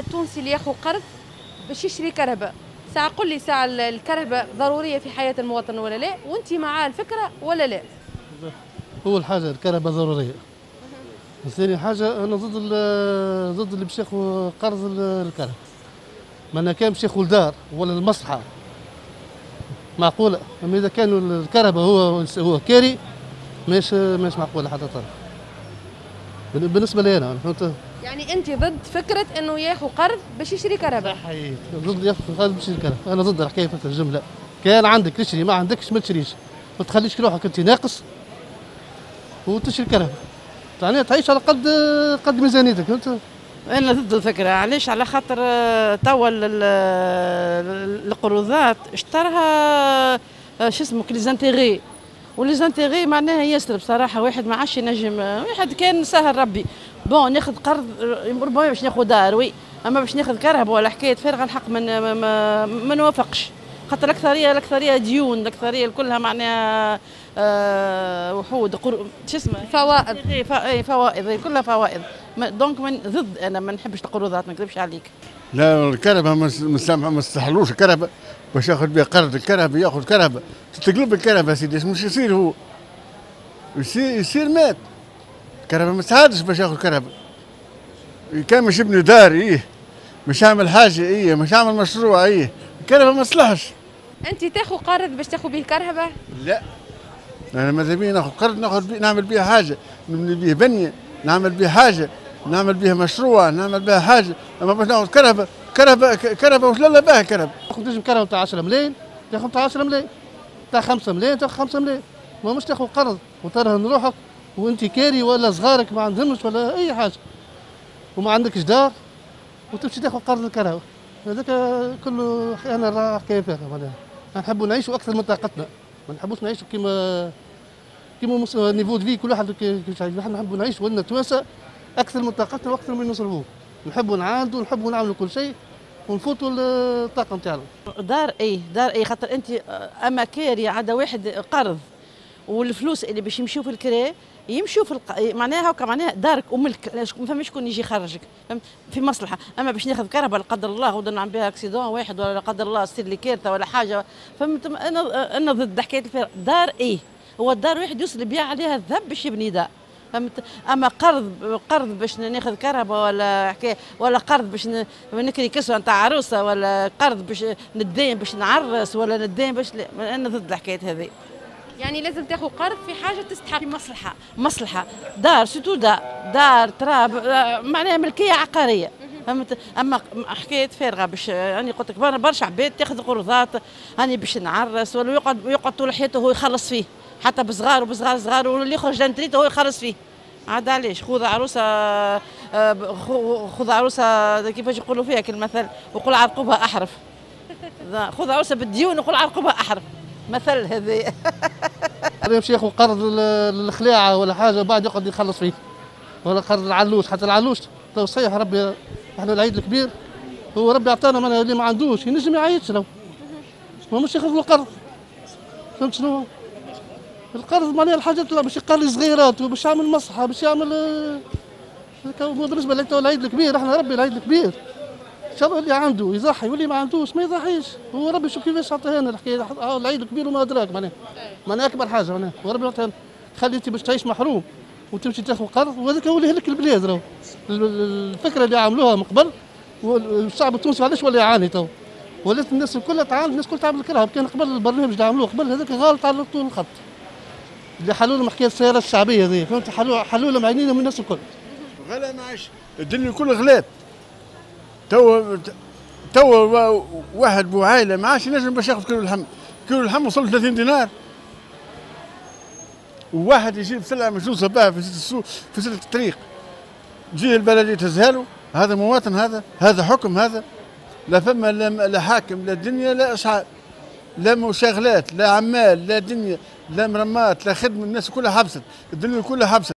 التونسي اللي ياخذ قرض باش يشري كرهبة. ساعة قل لي ساعة الكرهبة ضرورية في حياة المواطن ولا لا؟ وانت مع الفكرة ولا لا؟ أول حاجة الكرهبة ضرورية. ثاني حاجة أنا ضد اللي باش ياخذ قرض الكرهبة. ما كان باش ياخذ دار ولا المصلحة معقولة، أما إذا كان الكرهبة هو كاري ماهيش معقولة حتى طرف. بالنسبة لي أنا، فهمت؟ يعني أنت ضد فكرة إنه ياخذ قرض باش يشري كرهبة؟ صحيح، ضد ياخذ قرض باش يشري كرهبة، أنا ضد الحكاية في الجملة. كان عندك تشري، ما عندكش ما تشريش، ما تخليش روحك أنت ناقص وتشري كرهبة. يعني تعيش على قد ميزانيتك، فهمت؟ أنا ضد الفكرة، علاش؟ على خاطر توا القروضات اشتراها شو اسمه les intérêts، و les intérêts معناها ياسر بصراحة، واحد ما عادش ينجم، واحد كان سهل ربي، bon ناخذ قرض ربما باش ناخذ دار oui، أما باش ناخذ كرهبة ولا حكاية فارغة الحق ما نوافقش، خاطر الأكثرية ديون، الأكثرية كلها معناها وحود شو اسمه فوائد، فوائد كلها فوائد، donc من ضد، أنا ما نحبش القروضات، ما نكذبش عليك. لا الكرهبة ما استحلوش الكرهبة باش ياخذ بها قرض، الكرهبة ياخذ كرهبة تتقلب الكرهبة سيدي، مش يصير هو يصير مات. الكرهبة ما تساعدش باش ياخذ كرهبة. كان مش يبني دار إيه، مش يعمل حاجة إيه، مش يعمل مشروع إيه، الكرهبة ما تصلحش. أنت تاخذ قرض باش تاخذ به كرهبة؟ لا، أنا ماذا بيا ناخذ قرض، ناخذ بيه نعمل بيه حاجة، نبني بيه بنية، نعمل بيه حاجة، نعمل بيه مشروع، نعمل بيه حاجة، أما باش ناخذ كرهبة كرهبة كرهبة وش لا بها كرهبة. تاخذ تنجم كرهبة تاع 10 ملايين، تاخذ تاع 10 ملايين، تاع 5 ملايين، تاخذ 5 ملايين، ما مش تاخذ قرض وترهن روحك وأنت كاري ولا صغارك ما عندهمش ولا أي حاجة وما عندكش دار وتمشي تاخذ قرض الكرهبة، هذاك كله أنا حكاية فارغة معناها. نحبوا نعيشوا أكثر من طاقتنا، ما نحبوش نعيشوا كيما niveau de vie كل واحد كيفاش عايش، نحن نحبوا نعيشوا ولنا توانسة أكثر من طاقتنا وأكثر من نصرفوه، نحبوا نعاندوا، نحبوا نعملوا كل شيء ونفوتوا الطاقة نتاعنا. دار ايه، دار ايه، خاطر أنت أما كاري عاد واحد قرض والفلوس اللي باش يمشيو في الكرا يمشيو في معناها هكا، معناها دارك وملك، ما فماش شكون يجي يخرجك في مصلحة، اما باش ناخذ كرهبة لا قدر الله غدا نعمل بها accident واحد ولا لا قدر الله تصير لي كارثة ولا حاجة، فهمت؟ انا ضد حكاية الفارغ. دار ايه، هو الدار واحد يوصل يبيع عليها الذهب باش يبني دار، فهمت؟ اما قرض باش ناخذ كرهبة ولا حكاية، ولا قرض باش نكري كسوه نتاع عروسه، ولا قرض باش ندين باش نعرس، ولا ندين باش انا ضد الحكاية هذه. يعني لازم تاخذ قرض في حاجة تستحق، في مصلحة، مصلحة دار surtout دار تراب معناها ملكية عقارية، فهمت؟ اما حكاية فارغة باش يعني قلت لك برشا عباد تاخذ قروضات هاني باش نعرس، ولا يقعد طول حياته هو يخلص فيه، حتى بصغار وبصغار صغار، واللي يخرج l'entrée هو يخلص فيه. عاد علاش؟ خذ عروسه، خذ عروسه كيفاش يقولوا فيها كالمثل، وقول عرقوبها احرف. خذ عروسه بالديون وقول عرقوبها احرف، مثل هذا. هذا يمشي ياخذ قرض للخلاعه ولا حاجة بعد يقعد يخلص فيه، ولا قرض العلوش، حتى العلوش تو صحيح ربي احنا العيد الكبير هو ربي عطانا، معناها اللي ما عندوش ينجم يعيش له، ما مش ياخذ له قرض، فهمت شنو؟ القرض معناها الحاجات باش يقري صغيرات وباش يعمل مصحه باش يعمل. بالنسبة للعيد الكبير احنا ربي العيد الكبير ان شاء الله اللي عنده يضحي واللي ما عندوش ما يضحيش، هو ربي شوف كيفاش عطاها لنا الحكاية، العيد الكبير وما ادراك معناها، معناها اكبر حاجة معناها، وربي عطاها لنا. خلي انت باش تعيش محروم وتمشي تاخذ قرض، وهذاك هو اللي يهلك البلاد. راهو الفكرة اللي عملوها من قبل، والشعب التونسي علاش ولا يعاني تو؟ ولات الناس الكل تعاني، الناس الكل تعمل الكرهب، كان قبل البرنامج اللي عملوه قبل هذاك غلط على طول الخط. اللي حلوا لهم حكاية السيارة الشعبية هذه، فهمت؟ حلوا لهم عينيهم الناس الكل. غلا معيش، الدنيا الكل غلات. تو واحد بو عائلة ما عادش ينجم باش ياخذ كيلو اللحم، كيلو اللحم وصل 30 دينار. وواحد يجيب سلعه مجوزه بها في السوق في سلة الطريق، تجي البلدية تهزها له، هذا مواطن، هذا حكم، هذا لا فما لا حاكم لا دنيا لا اشعار، لا مشاغلات لا عمال لا دنيا لا مرمات لا خدمة، الناس كلها حبست، الدنيا كلها حبست.